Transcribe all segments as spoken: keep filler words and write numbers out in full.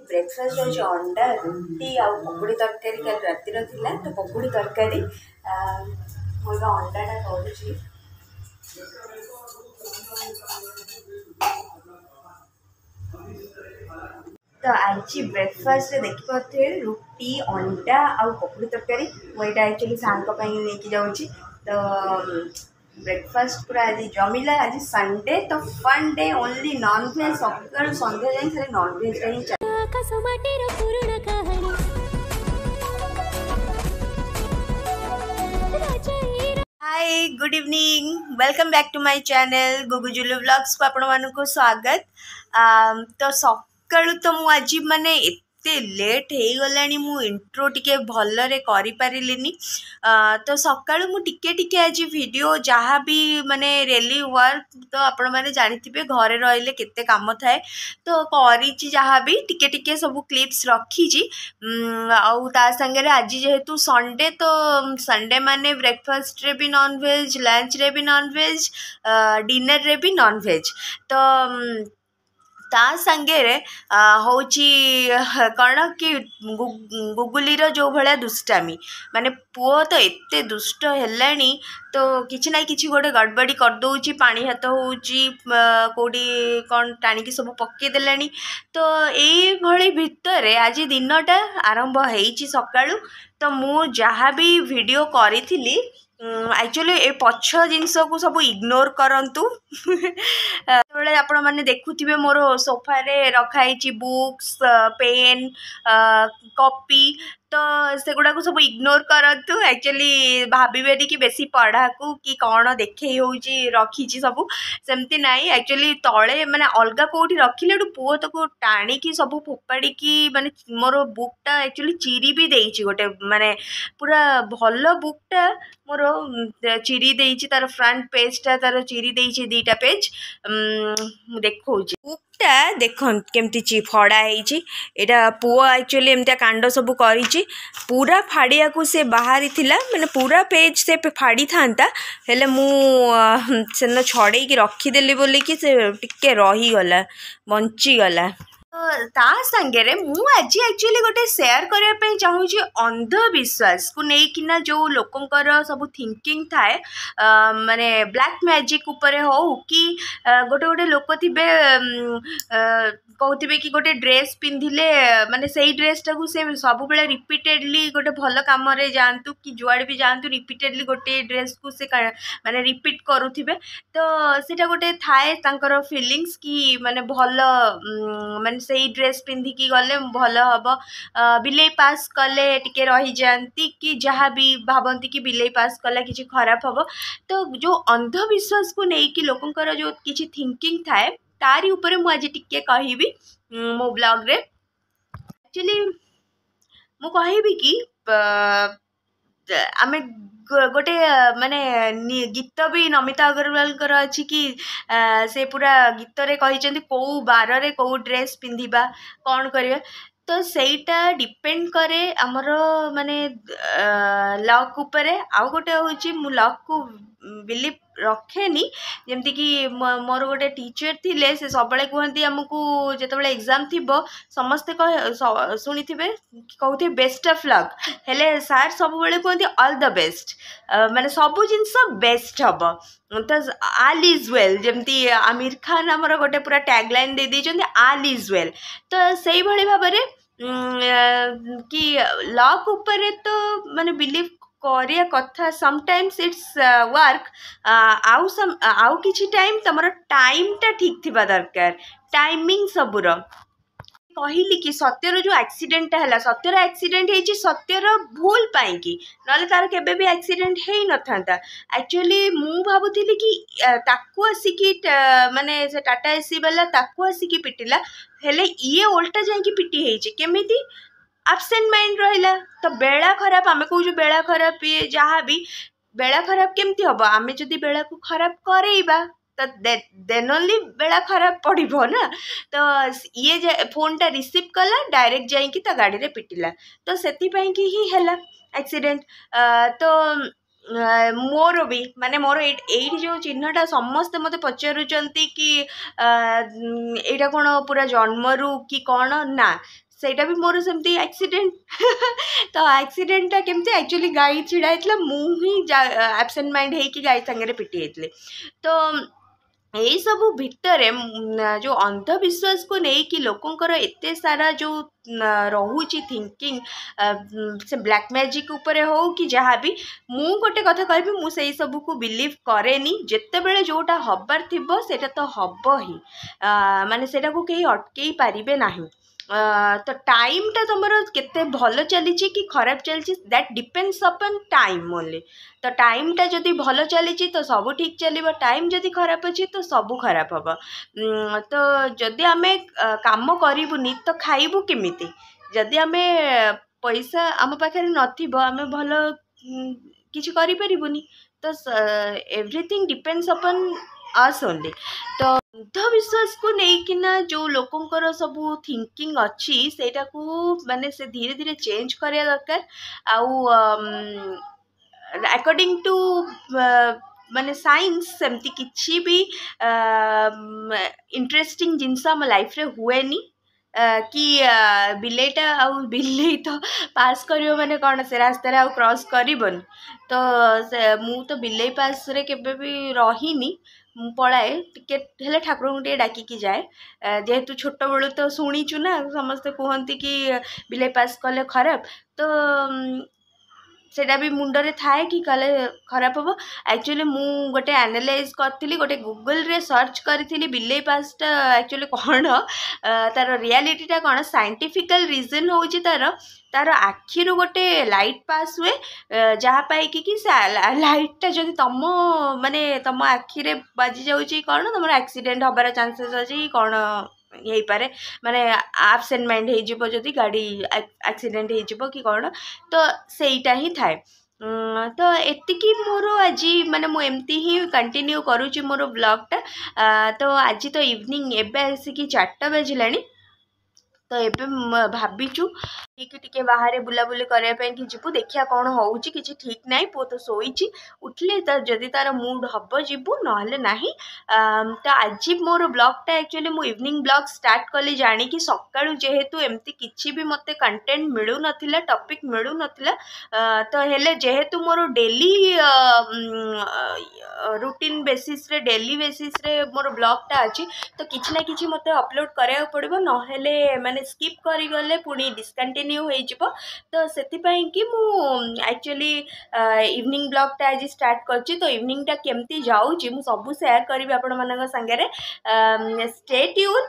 Breakfast ହେଉଛି ଅଣ୍ଡା ରୁଟି ଆଉ ପକୁଡ଼ି ତରକାରୀ କାଲି ରାତିର ଥିଲା ତ ପକୁଡ଼ି ତରକାରୀ ମୁଁ ଏବେ ଅଣ୍ଡାଟା କରୁଛି ତ ଆଜି ବ୍ରେକଫାଷ୍ଟରେ ଦେଖିପାରୁଥିବେ ରୁଟି ଅଣ୍ଡା ଆଉ ପକୁଡ଼ି ତରକାରୀ ମୁଁ ଏଇଟା ଆକ୍ଚୁଆଲି ସାର୍ଙ୍କ ପାଇଁ ନେଇକି ଯାଉଛି ତ ବ୍ରେକଫାଷ୍ଟ ପୁରା ଆଜି ଜମିଲା ଆଜି ସଣ୍ଡେ ତ ଫନ୍ ଡେ ଓନ୍ଲି ନନଭେଜ୍ ସକାଳୁ ସନ୍ଧ୍ୟା ଯାଏଁ ଖାଲି ନନଭେଜ୍ଟା ହିଁ ଚାଲେ ଆକାଶ ମାଟିର ପୁରୁଣା କାହାଣୀ ରାଜା Hi good evening welcome back to my channel Gugujulu ବ୍ଲଗ୍ସକୁ ଆପଣମାନଙ୍କୁ ସ୍ୱାଗତ ତ ସକାଳୁ ତ ମୁଁ ଆଜି ମାନେ ଏତେ ଲେଟ୍ ହେଇଗଲାଣି ମୁଁ ଇଣ୍ଟ୍ରୋ ଟିକେ ଭଲରେ କରିପାରିଲିନି ତ ସକାଳୁ ମୁଁ ଟିକେ ଟିକେ ଆଜି ଭିଡ଼ିଓ ଯାହା ବି ମାନେ ଡେଲି ୱାର୍କ ତ ଆପଣମାନେ ଜାଣିଥିବେ ଘରେ ରହିଲେ କେତେ କାମ ଥାଏ ତ କରିଛି ଯାହା ବି ଟିକେ ଟିକେ ସବୁ କ୍ଲିପ୍ସ ରଖିଛି ଆଉ ତା ସାଙ୍ଗରେ ଆଜି ଯେହେତୁ ସଣ୍ଡେ ତ ସଣ୍ଡେ ମାନେ ବ୍ରେକଫାଷ୍ଟରେ ବି ନନଭେଜ୍ ଲଞ୍ଚରେ ବି ନନଭେଜ୍ ଡିନରରେ ବି ନନଭେଜ୍ ତ ତା ସାଙ୍ଗରେ ହେଉଛି କ'ଣ କି ଗୁଗୁଲିର ଯେଉଁ ଭଳିଆ ଦୁଷ୍ଟାମି ମାନେ ପୁଅ ତ ଏତେ ଦୁଷ୍ଟ ହେଲାଣି ତ କିଛି ନା କିଛି ଗୋଟେ ଗଡ଼ବଡ଼ି କରିଦେଉଛି ପାଣି ହାତ ହେଉଛି କେଉଁଠି କ'ଣ ଟାଣିକି ସବୁ ପକେଇ ଦେଲାଣି ତ ଏଇଭଳି ଭିତରେ ଆଜି ଦିନଟା ଆରମ୍ଭ ହେଇଛି ସକାଳୁ ତ ମୁଁ ଯାହା ବି ଭିଡ଼ିଓ କରିଥିଲି ଆକ୍ଚୁଆଲି ଏ ପଛ ଜିନିଷକୁ ସବୁ ଇଗ୍ନୋର କରନ୍ତୁ ଯେତେବେଳେ ଆପଣମାନେ ଦେଖୁଥିବେ ମୋର ସୋଫାରେ ରଖା ହେଇଛି ବୁକ୍ସ ପେନ୍ କପି ତ ସେଗୁଡ଼ାକୁ ସବୁ ଇଗ୍ନୋର କରନ୍ତୁ ଆକ୍ଚୁଆଲି ଭାବିବେନି କି ବେଶୀ ପଢ଼ାକୁ କି କ'ଣ ଦେଖେଇ ହେଉଛି ରଖିଛି ସବୁ ସେମିତି ନାହିଁ ଆକ୍ଚୁଆଲି ତଳେ ମାନେ ଅଲଗା କେଉଁଠି ରଖିଲେ ଏଠୁ ପୁଅ ତାକୁ ଟାଣିକି ସବୁ ଫୋପାଡ଼ିକି ମାନେ ମୋର ବୁକ୍ଟା ଆକ୍ଚୁଆଲି ଚିରି ବି ଦେଇଛି ଗୋଟେ ମାନେ ପୁରା ଭଲ ବୁକ୍ଟା ମୋର ଚିରି ଦେଇଛି ତାର ଫ୍ରଣ୍ଟ ପେଜ୍ଟା ତାର ଚିରି ଦେଇଛି ଦୁଇଟା ପେଜ୍ ମୁଁ ଦେଖାଉଛି ବୁକ୍ଟା ଦେଖନ୍ତୁ କେମିତି ଫଡ଼ା ହେଇଛି ଏଇଟା ପୁଅ ଆକ୍ଚୁଆଲି ଏମିତିଆ କାଣ୍ଡ ସବୁ କରିଛି ପୁରା ଫାଡ଼ିବାକୁ ସେ ବାହାରିଥିଲା ମାନେ ପୁରା ପେଜ୍ ସେ ଫାଡ଼ିଥାନ୍ତା ହେଲେ ମୁଁ ସେଦିନ ଛଡ଼େଇକି ରଖିଦେଲି ବୋଲିକି ସେ ଟିକେ ରହିଗଲା ବଞ୍ଚିଗଲା ତା ସାଙ୍ଗରେ ମୁଁ ଆଜି ଆକ୍ଚୁଆଲି ଗୋଟେ ସେୟାର କରିବା ପାଇଁ ଚାହୁଁଛି ଅନ୍ଧବିଶ୍ୱାସକୁ ନେଇକିନା ଯେଉଁ ଲୋକଙ୍କର ସବୁ ଥିଙ୍କିଂ ଥାଏ ମାନେ ବ୍ଲାକ୍ ମ୍ୟାଜିକ୍ ଉପରେ ହଉ କି ଗୋଟେ ଗୋଟେ ଲୋକ ଥିବେ କହୁଥିବେ କି ଗୋଟେ ଡ୍ରେସ୍ ପିନ୍ଧିଲେ ମାନେ ସେଇ ଡ୍ରେସ୍ଟାକୁ ସେ ସବୁବେଳେ ରିପିଟେଡ଼ଲି ଗୋଟେ ଭଲ କାମରେ ଯାଆନ୍ତୁ କି ଯୁଆଡ଼େ ବି ଯାଆନ୍ତୁ ରିପିଟେଡ଼ଲି ଗୋଟେ ଡ୍ରେସ୍କୁ ସେ ମାନେ ରିପିଟ୍ କରୁଥିବେ ତ ସେଇଟା ଗୋଟେ ଥାଏ ତାଙ୍କର ଫିଲିଙ୍ଗସ୍ କି ମାନେ ଭଲ ମାନେ ସେଇ ଡ୍ରେସ୍ ପିନ୍ଧିକି ଗଲେ ଭଲ ହେବ ବିଲେଇ ପାସ୍ କଲେ ଟିକେ ରହିଯାଆନ୍ତି କି ଯାହା ବି ଭାବନ୍ତି କି ବିଲେଇ ପାସ୍ କଲେ କିଛି ଖରାପ ହେବ ତ ଯେଉଁ ଅନ୍ଧବିଶ୍ୱାସକୁ ନେଇକି ଲୋକଙ୍କର ଯେଉଁ କିଛି ଥିଙ୍କିଂ ଥାଏ ତାରି ଉପରେ ମୁଁ ଆଜି ଟିକେ କହିବି ମୋ ବ୍ଲଗ୍ରେ ଆକ୍ଚୁଆଲି ମୁଁ କହିବି କି ଆମେ ଗୋଟେ ମାନେ ଗୀତ ବି ନମିତା ଅଗ୍ରୱାଲଙ୍କର ଅଛି କି ସେ ପୁରା ଗୀତରେ କହିଛନ୍ତି କେଉଁ ବାରରେ କେଉଁ ଡ୍ରେସ୍ ପିନ୍ଧିବା କ'ଣ କରିବା ତ ସେଇଟା ଡିପେଣ୍ଡ କରେ ଆମର ମାନେ ଲକ୍ ଉପରେ ଆଉ ଗୋଟେ ହେଉଛି ମୁଁ ଲକ୍କୁ ବିଲିଭ୍ ରଖେନି ଯେମିତିକି ମୋର ଗୋଟେ ଟିଚର୍ ଥିଲେ ସେ ସବୁବେଳେ କୁହନ୍ତି ଆମକୁ ଯେତେବେଳେ ଏକ୍ଜାମ୍ ଥିବ ସମସ୍ତେ ଶୁଣିଥିବେ କହୁଥିବେ ବେଷ୍ଟ ଅଫ୍ ଲକ୍ ହେଲେ ସାର୍ ସବୁବେଳେ କୁହନ୍ତି ଅଲ୍ the best ମାନେ ସବୁ ଜିନିଷ ବେଷ୍ଟ ହେବ ତ ଆଲ୍ is well ଯେମିତି ଆମିର ଖାନ ଆମର ଗୋଟେ ପୁରା ଟ୍ୟାଗ୍ ଲାଇନ୍ ଦେଇ ଦେଇଛନ୍ତି ଆଲ୍ is well ତ ସେଇଭଳି ଭାବରେ କି ଲକ୍ ଉପରେ ତ ମାନେ ବିଲିଭ୍ କରିବା କଥା ସମଟାଇମ୍ସ it's work ଆଉ ଆଉ କିଛି ଟାଇମ୍ ତମର ଟାଇମ୍ଟା ଠିକ୍ ଥିବା ଦରକାର ଟାଇମିଂ ସବୁର କହିଲି କି ସତ୍ୟର ଯେଉଁ ଆକ୍ସିଡେଣ୍ଟଟା ହେଲା ସତ୍ୟର ଆକ୍ସିଡେଣ୍ଟ ହେଇଛି ସତ୍ୟର ଭୁଲ ପାଇଁକି ନହେଲେ ତାର କେବେ ବି ଆକ୍ସିଡେଣ୍ଟ ହେଇନଥାନ୍ତା ଆକ୍ଚୁଆଲି ମୁଁ ଭାବୁଥିଲି କି ତାକୁ ଆସିକି ମାନେ ସେ ଟାଟା ଏସି ବାଲା ତାକୁ ଆସିକି ପିଟିଲା ହେଲେ ଇଏ ଓଲଟା ଯାଇକି ପିଟି ହେଇଛି କେମିତି ଆବସେଣ୍ଟ ମାଇଣ୍ଡ ରହିଲା ତ ବେଳା ଖରାପ ଆମେ କହୁଛୁ ବେଳା ଖରାପ ଇଏ ଯାହା ବି ବେଳା ଖରାପ କେମିତି ହେବ ଆମେ ଯଦି ବେଳାକୁ ଖରାପ କରେଇବା ତ ଦେନ୍ ଓନ୍ଲି ବେଳା ଖରାପ ପଡ଼ିବ ନା ତ ଇଏ ଫୋନ୍ଟା ରିସିଭ୍ କଲା ଡାଇରେକ୍ଟ ଯାଇକି ତା ଗାଡ଼ିରେ ପିଟିଲା ତ ସେଥିପାଇଁକି ହିଁ ହେଲା ଆକ୍ସିଡେଣ୍ଟ ତ ମୋର ବି ମାନେ ମୋର ଏଇଠି ଯେଉଁ ଚିହ୍ନଟା ସମସ୍ତେ ମୋତେ ପଚାରୁଛନ୍ତି କି ଏଇଟା କ'ଣ ପୁରା ଜନ୍ମରୁ କି କ'ଣ ନା ସେଇଟା ବି ମୋର ସେମିତି ଆକ୍ସିଡେଣ୍ଟ ତ ଆକ୍ସିଡେଣ୍ଟଟା କେମିତି ଆକ୍ଚୁଆଲି ଗାଈ ଛିଡ଼ା ହେଇଥିଲା ମୁଁ ହିଁ ଆବସେଣ୍ଟ ମାଇଣ୍ଡ ହେଇକି ଗାଈ ସାଙ୍ଗରେ ପିଟି ହେଇଥିଲି ତ ଏଇସବୁ ଭିତରେ ଯେଉଁ ଅନ୍ଧବିଶ୍ୱାସକୁ ନେଇକି ଲୋକଙ୍କର ଏତେ ସାରା ଯେଉଁ ରହୁଛି ଥିଙ୍କିଂ ସେ ବ୍ଲାକ୍ ମ୍ୟାଜିକ୍ ଉପରେ ହଉ କି ଯାହା ବି ମୁଁ ଗୋଟେ କଥା କହିବି ମୁଁ ସେଇ ସବୁକୁ ବିଲିଭ୍ କରେନି ଯେତେବେଳେ ଯେଉଁଟା ହବାର ଥିବ ସେଇଟା ତ ହବ ହିଁ ମାନେ ସେଇଟାକୁ କେହି ଅଟକେଇ ପାରିବେ ନାହିଁ ତ ଟାଇମ୍ଟା ତୁମର କେତେ ଭଲ ଚାଲିଛି କି ଖରାପ ଚାଲିଛି that depends upon time only ତ ଟାଇମ୍ଟା ଯଦି ଭଲ ଚାଲିଛି ତ ସବୁ ଠିକ୍ ଚାଲିବ ଟାଇମ୍ ଯଦି ଖରାପ ଅଛି ତ ସବୁ ଖରାପ ହେବ ତ ଯଦି ଆମେ କାମ କରିବୁନି ତ ଖାଇବୁ କେମିତି ଯଦି ଆମେ ପଇସା ଆମ ପାଖରେ ନଥିବ ଆମେ ଭଲ କିଛି କରିପାରିବୁନି ତ everything depends upon us only ତ ଅନ୍ଧବିଶ୍ୱାସକୁ ନେଇକିନା ଯେଉଁ ଲୋକଙ୍କର ସବୁ ଥିଙ୍କିଂ ଅଛି ସେଇଟାକୁ ମାନେ ସେ ଧୀରେ ଧୀରେ ଚେଞ୍ଜ କରିବା ଦରକାର ଆଉ ଆକର୍ଡ଼ିଂ ଟୁ ମାନେ ସାଇନ୍ସ ସେମିତି କିଛି ବି ଇଣ୍ଟରେଷ୍ଟିଂ ଜିନିଷ ଆମ ଲାଇଫ୍ରେ ହୁଏନି କି ବିଲେଇଟା ଆଉ ବିଲେଇ ତ ପାସ୍ କରିବ ମାନେ କ'ଣ ସେ ରାସ୍ତାରେ ଆଉ କ୍ରସ୍ କରିବନି ତ ସେ ମୁଁ ତ ବିଲେଇ ପାସ୍ରେ କେବେ ବି ରହିନି ମୁଁ ପଳାଏ ଟିକେ ହେଲେ ଠାକୁରଙ୍କୁ ଟିକେ ଡାକିକି ଯାଏ ଯେହେତୁ ଛୋଟବେଳୁ ତ ଶୁଣିଛୁ ନା ସମସ୍ତେ କୁହନ୍ତି କି ବିଲେଇ ପାସ୍ କଲେ ଖରାପ ତ ସେଇଟା ବି ମୁଣ୍ଡରେ ଥାଏ କି କଲେ ଖରାପ ହେବ ଆକ୍ଚୁଆଲି ମୁଁ ଗୋଟେ ଆନାଲାଇଜ୍ କରିଥିଲି ଗୋଟେ ଗୁଗଲରେ ସର୍ଚ୍ଚ କରିଥିଲି ବିଲେଇ ପାସ୍ଟା ଆକ୍ଚୁଆଲି କ'ଣ ତାର ରିଆଲିଟିଟା କ'ଣ ସାଇଣ୍ଟିଫିକାଲ ରିଜନ୍ ହେଉଛି ତାର ତାର ଆଖିରୁ ଗୋଟେ ଲାଇଟ୍ ପାସ୍ ହୁଏ ଯାହା ପାଇକି କି ସେ ଲାଇଟ୍ଟା ଯଦି ତମ ମାନେ ତମ ଆଖିରେ ବାଜି ଯାଉଛି କ'ଣ ତମର ଆକ୍ସିଡେଣ୍ଟ ହେବାର ଚାନ୍ସେସ୍ ଅଛି କ'ଣ ହେଇପାରେ ମାନେ ଆବସେଣ୍ଟ ମାଇଣ୍ଡ ହେଇଯିବ ଯଦି ଗାଡ଼ି ଆକ୍ସିଡେଣ୍ଟ ହେଇଯିବ କି କ'ଣ ତ ସେଇଟା ହିଁ ଥାଏ ତ ଏତିକି ମୋର ଆଜି ମାନେ ମୁଁ ଏମିତି ହିଁ କଣ୍ଟିନ୍ୟୁ କରୁଛି ମୋର ବ୍ଲଗ୍ଟା ତ ଆଜି ତ ଇଭିନିଂ ଏବେ ଆସିକି ଚାରିଟା ବାଜିଲାଣି ତ ଏବେ ଭାବିଛୁ କି ଟିକେ ବାହାରେ ବୁଲାବୁଲି କରିବା ପାଇଁ କି ଯିବୁ ଦେଖିବା କ'ଣ ହେଉଛି କିଛି ଠିକ୍ ନାହିଁ ପୁଅ ତ ଶୋଇଛି ଉଠିଲେ ତ ଯଦି ତାର ମୁଡ୍ ହେବ ଯିବୁ ନହେଲେ ନାହିଁ ତ ଆଜି ମୋର ବ୍ଲଗ୍ଟା ଆକ୍ଚୁଆଲି ମୁଁ ଇଭିନିଂ ବ୍ଲଗ୍ ଷ୍ଟାର୍ଟ କଲି ଜାଣିକି ସକାଳୁ ଯେହେତୁ ଏମିତି କିଛି ବି ମୋତେ କଣ୍ଟେଣ୍ଟ ମିଳୁନଥିଲା ଟପିକ୍ ମିଳୁନଥିଲା ତ ହେଲେ ଯେହେତୁ ମୋର ଡେଲି ରୁଟିନ୍ ବେସିସ୍ରେ ଡେଲି ବେସିସ୍ରେ ମୋର ବ୍ଲଗ୍ଟା ଅଛି ତ କିଛି ନା କିଛି ମୋତେ ଅପଲୋଡ଼ କରିବାକୁ ପଡ଼ିବ ନହେଲେ ମାନେ ସ୍କିପ୍ କରିଗଲେ ପୁଣି ଡିସକଣ୍ଟିନ୍ୟୁ ହେଇଯିବ ତ ସେଥିପାଇଁ କି ମୁଁ ଆକ୍ଚୁଆଲି ଇଭିନିଂ ବ୍ଲଗ୍ଟା ଆଜି ଷ୍ଟାର୍ଟ କରିଛି ତ ଇଭିନିଂଟା କେମିତି ଯାଉଛି ମୁଁ ସବୁ ସେୟାର କରିବି ଆପଣମାନଙ୍କ ସାଙ୍ଗରେ ଷ୍ଟେ ଟ୍ୟୁନ୍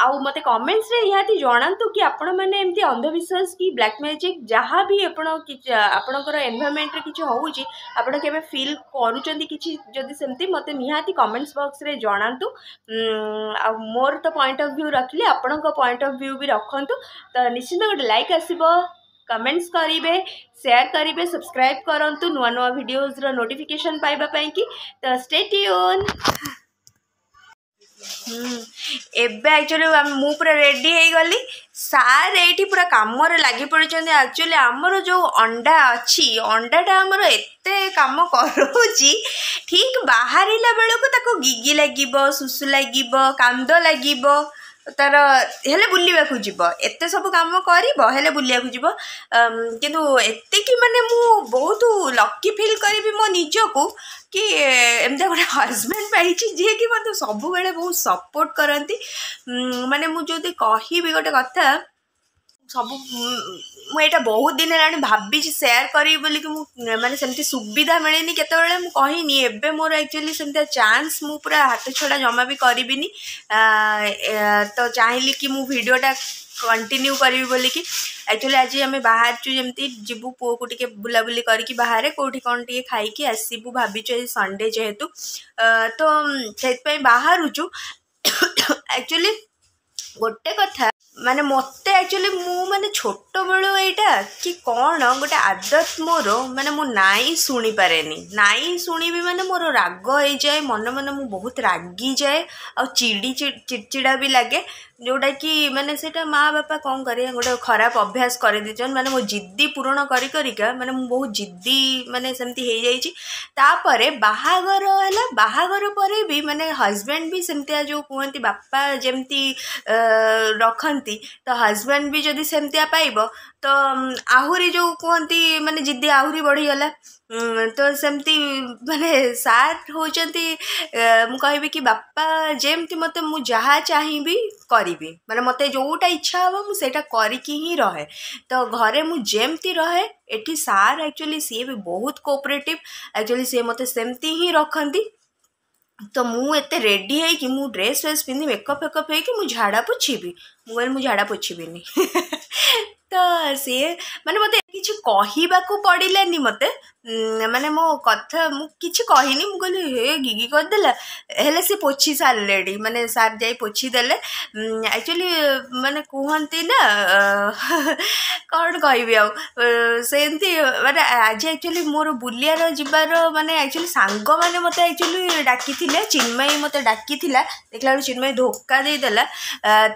ଆଉ ମୋତେ କମେଣ୍ଟସରେ ନିହାତି ଜଣାନ୍ତୁ କି ଆପଣମାନେ ଏମିତି ଅନ୍ଧବିଶ୍ୱାସ କି ବ୍ଲାକ୍ ମ୍ୟାଜିକ୍ ଯାହା ବି ଆପଣ ଆପଣଙ୍କର ଏନଭାରମେଣ୍ଟରେ କିଛି ହେଉଛି ଆପଣ କେବେ ଫିଲ୍ କରୁଛନ୍ତି କିଛି ଯଦି ସେମିତି ମୋତେ ନିହାତି କମେଣ୍ଟସ୍ ବକ୍ସରେ ଜଣାନ୍ତୁ ଆଉ ମୋର ତ ପଏଣ୍ଟ ଅଫ୍ ଭ୍ୟୁ ରଖିଲି ଆପଣଙ୍କ ପଏଣ୍ଟ ଅଫ୍ ଭ୍ୟୁ ବି ରଖନ୍ତୁ ତ ନିଶ୍ଚିନ୍ତ ଗୋଟେ ଲାଇକ୍ ଆସିବ କମେଣ୍ଟସ୍ କରିବେ ସେୟାର କରିବେ ସବସ୍କ୍ରାଇବ୍ କରନ୍ତୁ ନୂଆ ନୂଆ ଭିଡ଼ିଓଜର ନୋଟିଫିକେସନ୍ ପାଇବା ପାଇଁକି ତ ଷ୍ଟେ ଟ୍ୟୁନ୍ ଏବେ ଆକ୍ଚୁଆଲି ମୁଁ ପୁରା ରେଡ଼ି ହେଇଗଲି ସାର୍ ଏଇଠି ପୁରା କାମରେ ଲାଗି ପଡ଼ିଛନ୍ତି ଆକ୍ଚୁଆଲି ଆମର ଯେଉଁ ଅଣ୍ଡା ଅଛି ଅଣ୍ଡାଟା ଆମର ଏତେ କାମ କରାଉଛି ଠିକ୍ ବାହାରିଲା ବେଳକୁ ତାକୁ ଗିଗି ଲାଗିବ ଶୁଶୁ ଲାଗିବ କାନ୍ଦ ଲାଗିବ ତାର ହେଲେ ବୁଲିବାକୁ ଯିବ ଏତେ ସବୁ କାମ କରିବ ହେଲେ ବୁଲିବାକୁ ଯିବ କିନ୍ତୁ ଏତିକି ମାନେ ମୁଁ ବହୁତ ଲକି ଫିଲ୍ କରିବି ମୋ ନିଜକୁ କି ଏମିତିଆ ଗୋଟେ ହଜବେଣ୍ଡ ପାଇଛି ଯିଏକି ମୋତେ ସବୁବେଳେ ବହୁତ ସପୋର୍ଟ କରନ୍ତି ମାନେ ମୁଁ ଯଦି କହିବି ଗୋଟେ କଥା ସବୁ ମୁଁ ଏଇଟା ବହୁତ ଦିନ ହେଲାଣି ଭାବିଛି ସେୟାର କରିବି ବୋଲିକି ମୁଁ ମାନେ ସେମିତି ସୁବିଧା ମିଳିନି କେତେବେଳେ ମୁଁ କହିନି ଏବେ ମୋର ଆକ୍ଚୁଆଲି ସେମିତିଆ ଚାନ୍ସ ମୁଁ ପୁରା ହାତ ଛଡ଼ା ଜମା ବି କରିବିନି ତ ଚାହିଁଲି କି ମୁଁ ଭିଡ଼ିଓଟା କଣ୍ଟିନ୍ୟୁ କରିବି ବୋଲିକି ଆକ୍ଚୁଆଲି ଆଜି ଆମେ ବାହାରିଛୁ ଯେମିତି ଯିବୁ ପୁଅକୁ ଟିକେ ବୁଲାବୁଲି କରିକି ବାହାରେ କେଉଁଠି କ'ଣ ଟିକେ ଖାଇକି ଆସିବୁ ଭାବିଛୁ ଆଜି ସଣ୍ଡେ ଯେହେତୁ ତ ସେଥିପାଇଁ ବାହାରୁଛୁ ଆକ୍ଚୁଆଲି ଗୋଟେ କଥା ମାନେ ମୋତେ ଆକ୍ଚୁଆଲି ମୁଁ ମାନେ ଛୋଟବେଳୁ ଏଇଟା କି କ'ଣ ଗୋଟେ ଆଦତ ମୋର ମାନେ ମୁଁ ନାଇଁ ଶୁଣିପାରେନି ନାଇଁ ଶୁଣିବି ମାନେ ମୋର ରାଗ ହେଇଯାଏ ମନେ ମନେ ମୁଁ ବହୁତ ରାଗିଯାଏ ଆଉ ଚିଡ଼ି ଚିଡ଼ଚିଡ଼ା ବି ଲାଗେ ଯେଉଁଟାକି ମାନେ ସେଇଟା ମା ବାପା କ'ଣ କରିବେ, ଗୋଟେ ଖରାପ ଅଭ୍ୟାସ କରିଦେଇଛନ୍ତି। ମାନେ ମୋ ଜିଦ୍ଦି ପୂରଣ କରି କରିକା ମାନେ ମୁଁ ବହୁତ ଜିଦ୍ଦି ମାନେ ସେମିତି ହେଇଯାଇଛି। ତାପରେ ବାହାଘର ହେଲା, ବାହାଘର ପରେ ବି ମାନେ ହଜବେଣ୍ଡ ବି ସେମିତିଆ, ଯେଉଁ କୁହନ୍ତି ବାପା ଯେମିତି ରଖନ୍ତି, ତ ହଜବେଣ୍ଡ ବି ଯଦି ସେମିତିଆ ପାଇବ ତ ଆହୁରି ଯେଉଁ କୁହନ୍ତି ମାନେ ଜିଦ୍ଦି ଆହୁରି ବଢ଼ିଗଲା। ତ ସେମିତି ମାନେ ସାର୍ ହେଉଛନ୍ତି, ମୁଁ କହିବି କି ବାପା ଯେମିତି ମୋତେ, ମୁଁ ଯାହା ଚାହିଁବି କରିବି, ମାନେ ମୋତେ ଯେଉଁଟା ଇଚ୍ଛା ହେବ ମୁଁ ସେଇଟା କରିକି ହିଁ ରହେ। ତ ଘରେ ମୁଁ ଯେମିତି ରହେ, ଏଠି ସାର୍ ଆକ୍ଚୁଆଲି ସିଏ ବି ବହୁତ କୋଅପରେଟିଭ୍, ଆକ୍ଚୁଆଲି ସିଏ ମୋତେ ସେମିତି ହିଁ ରଖନ୍ତି। ତ ମୁଁ ଏତେ ରେଡ଼ି ହେଇକି, ମୁଁ ଡ୍ରେସ୍ ଫ୍ରେସ୍ ପିନ୍ଧି ମେକଅପ୍ ଫେକଅପ୍ ହେଇକି ମୁଁ ଝାଡ଼ା ପୋଛିବି? ମୁଁ କହିଲି ମୁଁ ଝାଡ଼ା ପୋଛିବିନି। ତ ସିଏ ମାନେ ମୋତେ କିଛି କହିବାକୁ ପଡ଼ିଲାନି, ମୋତେ ମାନେ ମୋ କଥା ମୁଁ କିଛି କହିନି। ମୁଁ କହିଲି ହେ ଗିଗି କରିଦେଲା, ହେଲେ ସେ ପୋଛି ସାରିଲେଣି, ମାନେ ସାର୍ ଯାଇ ପୋଛିଦେଲେ। ଆକ୍ଚୁଆଲି ମାନେ କୁହନ୍ତି ନା, କ'ଣ କହିବି ଆଉ, ସେମିତି ମାନେ ଆଜି ଆକ୍ଚୁଆଲି ମୋର ବୁଲିବାର ଯିବାର ମାନେ ଆକ୍ଚୁଆଲି ସାଙ୍ଗମାନେ ମୋତେ ଆକ୍ଚୁଆଲି ଡାକିଥିଲେ, ଚିନ୍ମୟୀ ମୋତେ ଡାକିଥିଲା, ଦେଖିଲା ବେଳକୁ ଚିନ୍ମୟୀ ଧୋକା ଦେଇଦେଲା।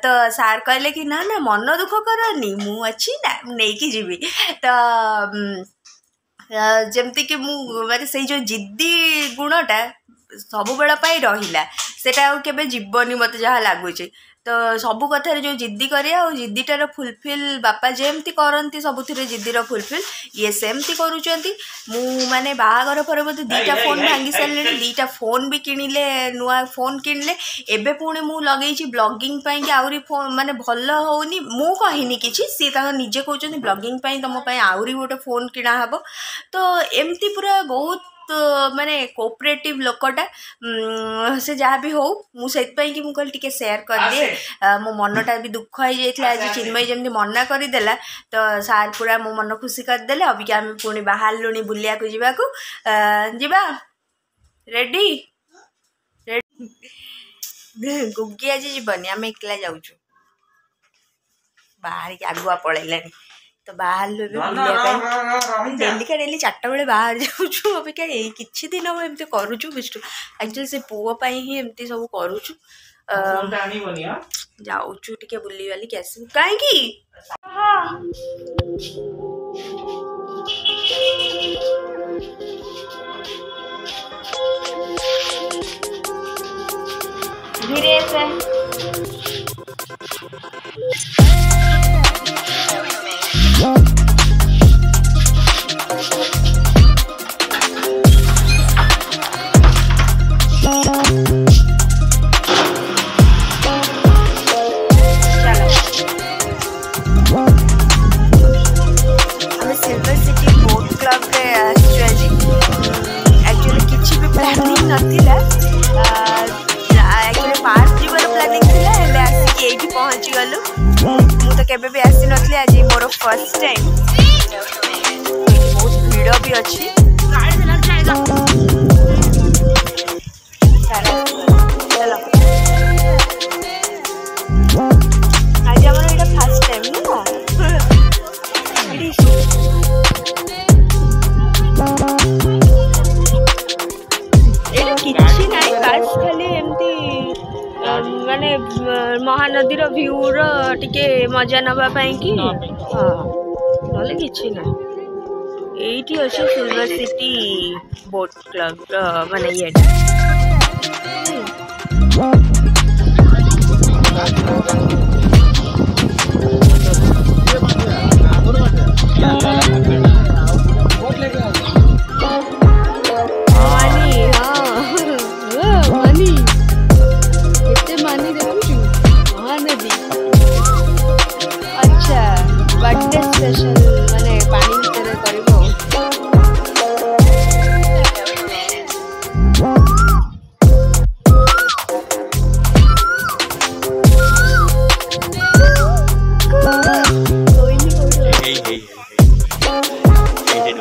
ତ ସାର୍ କହିଲେ କି ନା ନା ମନ ଦୁଃଖ କରନି, ମୁଁ ଅଛି ନା, ମୁଁ ନେଇକି ଯିବି। ତ ଯେମିତିକି ମୁଁ ମାନେ ସେଇ ଯେଉଁ ଜିଦ୍ଦି ଗୁଣଟା ସବୁବେଳ ପାଇଁ ରହିଲା, ସେଇଟା ଆଉ କେବେ ଯିବନି ମୋତେ ଯାହା ଲାଗୁଛି। ତ ସବୁ କଥାରେ ଯେଉଁ ଜିଦ୍ଦି କରିବା ଆଉ ଜିଦ୍ଦିଟାର ଫୁଲଫିଲ୍ ବାପା ଯେମିତି କରନ୍ତି, ସବୁଥିରେ ଜିଦ୍ଦିର ଫୁଲଫିଲ୍ ଇଏ ସେମିତି କରୁଛନ୍ତି। ମୁଁ ମାନେ ବାହାଘର ପରେ ବୋଧେ ଦୁଇଟା ଫୋନ୍ ଭାଙ୍ଗି ସାରିଲିଣି, ଦୁଇଟା ଫୋନ୍ ବି କିଣିଲେ, ନୂଆ ଫୋନ୍ କିଣିଲେ। ଏବେ ପୁଣି ମୁଁ ଲଗେଇଛି ବ୍ଲଗିଂ ପାଇଁକି ଆହୁରି ଫୋନ୍, ମାନେ ଭଲ ହେଉନି। ମୁଁ କହିନି କିଛି, ସିଏ ତାଙ୍କ ନିଜେ କହୁଛନ୍ତି ବ୍ଲଗିଂ ପାଇଁ ତୁମ ପାଇଁ ଆହୁରି ଗୋଟେ ଫୋନ୍ କିଣା ହେବ। ତ ଏମିତି ପୁରା ବହୁତ ମାନେ କୋଅପରେଟିଭ୍ ଲୋକଟା ସେ। ଯାହା ବି ହଉ, ମୁଁ ସେଥିପାଇଁ କି ମୁଁ କହିଲି ଟିକେ ସେୟାର କରିଦିଏ। ମୋ ମନଟା ବି ଦୁଃଖ ହେଇଯାଇଥିଲା ଆଜି ଚିନ୍ମୟୀ ଯେମିତି ମନା କରିଦେଲା, ତ ସାର୍ ପୁରା ମୋ ମନ ଖୁସି କରିଦେଲେ। ଅବିକା ଆମେ ପୁଣି ବାହାରିଲୁଣି ବୁଲିବାକୁ ଯିବାକୁ। ଯିବା, ରେଡ଼ି? ଗୁଗି ଆଜି ଯିବନି, ଆମେ ଏକଲା ଯାଉଛୁ। ବାହାରିକି ଆଗୁଆ ପଳେଇଲାଣି। ତ ବାହାରିଲୁ ଏବେ ବୁଲିବା ପାଇଁ। ଡେଲିକା ଡେଲି ଚାରିଟା ବେଳେ ବାହାରି ଯାଉଛୁ। ଅବିକା ଏଇ କିଛି ଦିନ ହବ ଏମିତି କରୁଛୁ। ବିଷ୍ଣୁ ଆକ୍ଚୁଆଲି ସେ ପୁଅ ପାଇଁ ହିଁ ଏମିତି ସବୁ କରୁଛୁ। ଯାଉଛୁ ଟିକେ ବୁଲିବାଲିକି ଆସିବୁ। କାହିଁକି ଧୀରେ ସେ ନଥିଲା। ଆକ୍ଚୁଆଲି ପାର୍କ ଯିବାର ପ୍ଲାନିଂ ଥିଲା, ହେଲେ ଆସିକି ଏଇଠି ପହଞ୍ଚିଗଲୁ। ମୁଁ ତ କେବେ ବି ଆସିନଥିଲି, ଆଜି ମୋର ଫାର୍ଷ୍ଟ ଟାଇମ୍। ବହୁତ ଭିଡ଼ ବି ଅଛି। ଚାଲ, ଆଜି ଆମର ଏଇଟା ଫାର୍ଷ୍ଟ ଟାଇମ୍ ନୁହଁ? ଏଇଠି କିଛି ନାହିଁ, ବାସ୍ ଖାଲି ଏମିତି ମାନେ ମହାନଦୀର ଭ୍ୟୁର ଟିକେ ମଜା ନେବା ପାଇଁକି, ହଁ, ନହେଲେ କିଛି ନାହିଁ। ଏଇଠି ଅଛି ସିଲଭର ସିଟି ବୋଟ୍ କ୍ଲବର ମାନେ ଇଏଟା। ମାନି, ହଁ ମାନି, କେତେ ମାନି ଦେଖୁଛୁ ମହାନଦୀ। ଆଚ୍ଛା, ବର୍ଥଡେ ସ୍ପେଶାଲ ମାନେ ପାଣି ଭିତରେ କରିବ। ଶୋଇନି କୋଉଠି? ହେଇ ହେଇ ହେଇ, ଏଇଠି।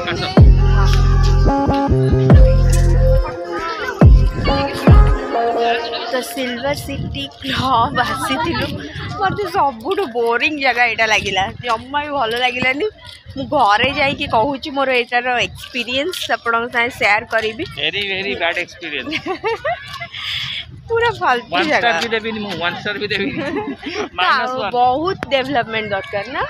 ଆସ। ତ ସିଲଭର ସିଟି କ୍ଲବ୍ ଆସିଥିଲୁ। ମୋତେ ସବୁଠୁ ବୋରିଂ ଜାଗା ଏଇଟା ଲାଗିଲା, ଜମା ବି ଭଲ ଲାଗିଲାନି। ମୁଁ ଘରେ ଯାଇକି କହୁଛି, ମୋର ଏଇଟାର ଏକ୍ସପିରିଏନ୍ସ ଆପଣଙ୍କ ସାଙ୍ଗେ ସେୟାର କରିବି। Very very bad experience. ପୁରା ଫାଲତୁ ୱାନ୍ ଜାଗା। ଷ୍ଟାର ବି ଦେବିନି ମୁଁ, ୱାନ୍ ଷ୍ଟାର ବି ଦେବିନି, ମାଇନସ୍ ଆଉ ୱାନ୍। ବହୁତ ଡେଭଲପମେଣ୍ଟ ଦରକାର ନା।